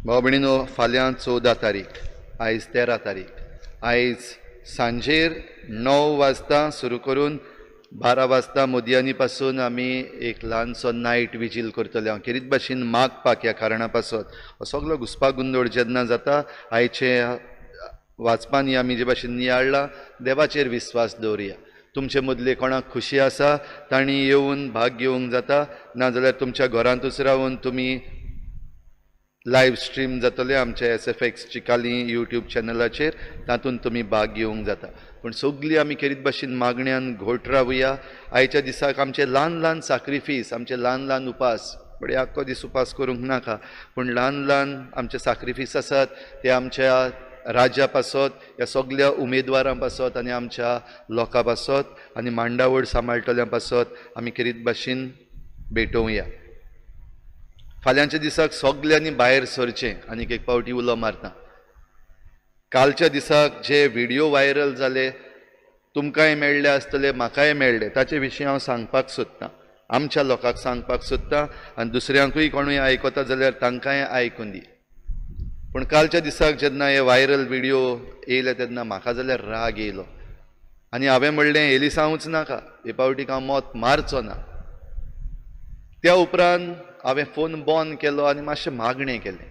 भाव भयणीनो, फाल्यां 14 तारीख, आयज 13 तारीख. आयज सांजेर 9 वाजता सुरू करून 12 वाजता मोदयांनी पासून आमी एक ल्हानसो नायट विजील करतले. हांव खेरीत भाशेन मागपाक ह्या कारणा पासत हो सगलो घुसपा गोंदळ जेन्ना जाता, आयचे वाचपांनी आमी जे भाशेन नियाळ्ळा, देवाचेर विस्वास दवरुया. तुमचे मदले कोणाक खुशी आसा तांणी येवन भाग घेवंक जाता, नाजाल्यार तुमच्या घरांतूच रावन तुमी लायव्ह स्ट्रीम जातले आमच्या SFX Chicalim YouTube चॅनलाचेर, तातूंत तुमी भाग घेवंक जाता. पूण सगळीं आमी खेरीत भाशेन मागण्यान घोट रावया. आयच्या दिसाक आमचे ल्हान ल्हान साक्रिफीस, आमचे ल्हान ल्हान उपास, बडे आख्खो दीस उपास करूंक नाका, पूण ल्हान ल्हान आमचे साक्रिफीस आसात ते आमच्या राज्या पासत, ह्या सगल्या उमेदवारां पासत आनी आमच्या लोकां पासत आनी मांडावळ सांबाळटल्या पासत आमी खेरीत भाशेन भेटोवया. फाल्यांच्या दिसाक सगल्यांनी भायर सरचें. आनीक एक पावटी उलो मारता, कालच्या दिसाक जे व्हिडियो व्हायरल जाले तुमकांय मेळ्ळे आसतले, म्हाकाय मेळ्ळे, ताचे विशीं हांव सांगपाक सोदतां, आमच्या लोकांक सांगपाक सोदतां आनी दुसऱ्यांकूय कोणूय आयकता जाल्यार तांकांय आयकून दी. पूण कालच्या दिसाक जेन्ना हे व्हायरल व्हिडियो येयले तेन्ना म्हाका जाल्यार राग येयलो आनी हांवें म्हणलें एलिसांवूच नाका, हे पावटीक हांव मत मारचो ना. त्या उपरांत हांवें फोन बंद केलो आनी मातशें मागणें केलें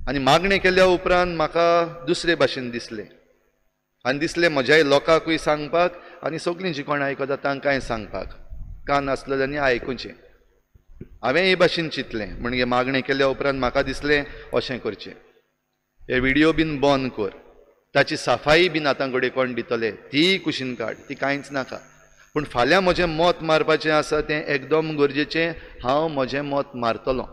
आनी मागणें केल्या उपरांत म्हाका दुसरे भाशेन दिसलें आनी दिसलें म्हज्याय लोकांकूय सांगपाक आनी सगळीं जीं कोण आयकता तांकांय सांगपाक, कान आसलेल्यांनी आयकुचें. हांवें हे भाशेन चिंतलें, म्हणजे मागणें केल्या उपरांत म्हाका दिसलें अशें करचें, हे व्हिडियो बीन बंद कर, ताची सफाई बीन आतां कडेन कोण दितले तीय कुशीन काड, ती कांयच नाका. पूण फाल्यां म्हजें मत मारपाचें आसा तें एकदम गरजेचें, हांव म्हजें मत मारतलो.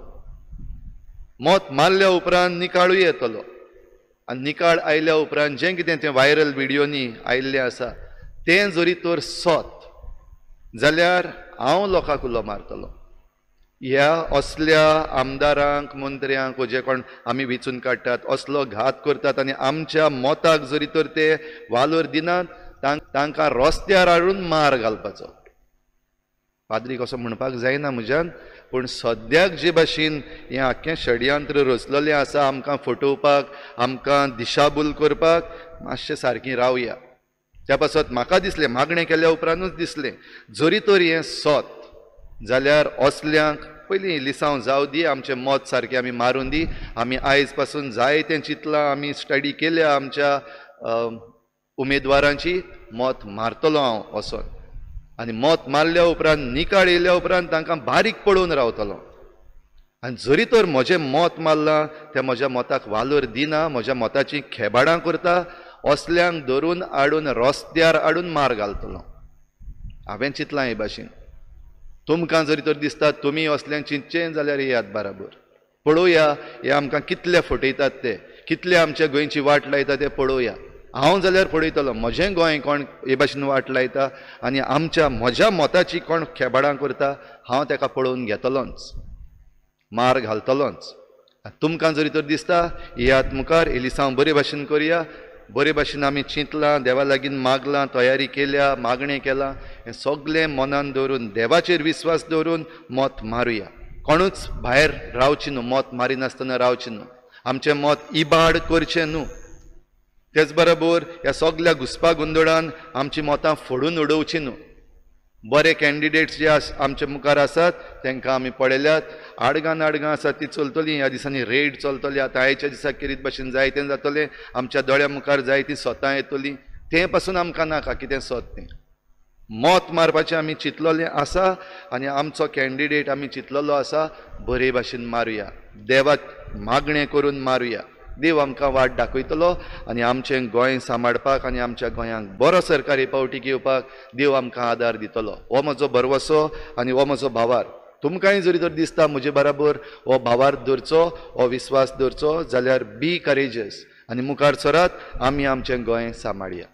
मत मारल्या उपरांत निकाळूय येतलो आनी निकाळ आयल्या उपरांत जें कितें तें व्हायरल व्हिडियोनी आयिल्लें आसा तें जरी तर सत जाल्यार हांव लोकांक उलो मारतलो. ह्या असल्या आमदारांक, मंत्र्यांक जे कोण आमी वेंचून काडटात असलो घात करतात आनी आमच्या मताक जरी तर ते वालोर दिनात तांकां रस्त्यार हाडून मार घालपाचो. पाद्रीक असो म्हणपाक जायना म्हज्यान, पूण सद्याक जे भाशेन हें आख्खें षडयंत्र रचलेलें आसा आमकां फटोवपाक, आमकां दिशाभूल करपाक, मातशें सारकीं रावया. त्या पासत म्हाका दिसलें, मागणें केल्या उपरांतूच दिसलें जरी तर हें सत जाल्यार असल्यांक पयलीं लिसांव जावं दी, आमचें मत सारकें आमी मारून दी. आमी आयज पासून जायतें चिंतलां, आमी स्टडी केल्या आमच्या उमेदवारांची, मत मारतलो हांव वचोन आनी मत मारल्या उपरांत निकाळ येयल्या उपरांत तांकां बारीक पळोवन रावतलो. आनी जरी तर म्हजें मत मारलां तें म्हज्या मताक वालोर दिना, म्हज्या मताची खेबाडां करता, असल्यांक धरून हाडून रस्त्यार हाडून मार घालतलो. हांवें चिंतलां हे भाशेन. तुमकां जरी तर दिसता तुमी असल्यांक चिंतचें जाल्यार येयात बराबर, पळोवया हे आमकां कितले फटयतात ते, कितले आमच्या गोंयची वाट लायता ते पळोवया. हांव जाल्यार पळयतलो म्हजें गोंय कोण हे भाशेन वाट लायता आनी आमच्या म्हज्या मताची कोण खेबाडां करता, हांव ताका पळोवन घेतलोच, मार घालतलोच. तुमकां जरी तर दिसता येयात मुखार, एलिसांव बरे भाशेन करया, बरे भाशेन आमी चिंतलां, देवा लागीं मागलां, तयारी केल्या, मागणें केलां, हें सगळें मनान दवरून देवाचेर विस्वास दवरून मत मारुया. कोणूच भायर रावचें न्हू, मत मारिनासतना रावचें न्हू, आमचें मत इबाड करचें न्हू. तेच बरोबर ह्या सगल्या घुसपा गोंदळान आमची मतां फोडून उडोवचीं न्हू. बरे कॅन्डिडेट्स जे आमचे मुखार आसात तांकां आमी पळयल्यात, आडगां नाडगां आसात ती चलतली, ह्या दिसांनी रेड चलतली. आतां आयच्या दिसाक खेरीत भाशेन जायतें जातलें, आमच्या दोळ्या मुखार जायतीं सतां येतलीं, तें पासून आमकां नाका कितें सत तें. मत मारपाचें आमी चिंतलेलें आसा आनी आमचो कॅन्डिडेट आमी चिंतलेलो आसा, बरे भाशेन मारुया, देवाक मागणें करून मारुया. देव आमकां वाट दाखयतलो आनी आमचें गोंय सांबाळपाक आनी आमच्या गोंयांक बरो सरकारी पावटी घेवपाक देव आमकां आदार दितलो. हो म्हजो भरवसो आनी हो म्हजो भावार. तुमकांय जरी तर दिसता म्हजे बराबर हो भावार दवरचो, हो विस्वास दवरचो जाल्यार बी करेजस आनी मुखार सरात, आमी आमचें गोंय सांबाळया.